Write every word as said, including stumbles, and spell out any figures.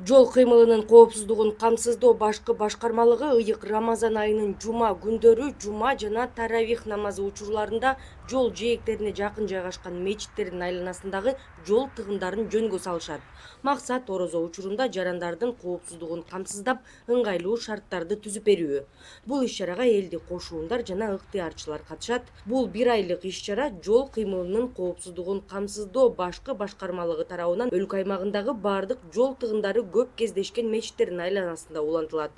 Жол кыймылынын коопсуздугун камсыздоо башкы башкармалыгы ыйык Рамазан айынын жума күндөрү жума жана таравих намазы учурларында жол жээктерине жакын жайгашкан мечиттердин айланасындагы жол тыгындарын жөнгө салышат. Максат орозо учурунда жарандардын коопсуздугун камсыздап, ыңгайлуу шарттарды түзүп берүү. Бул иш-чарага элдик кошуундар жана ыктыярчылар катышат. Бул бир айлык иш-чара жол кыймылынын коопсуздугун камсыздоо башкы башкармалыгы тарабынан өлкө аймагындагы бардык жол тыгындары көп кездешкен мечиттердин айланасында улантылат.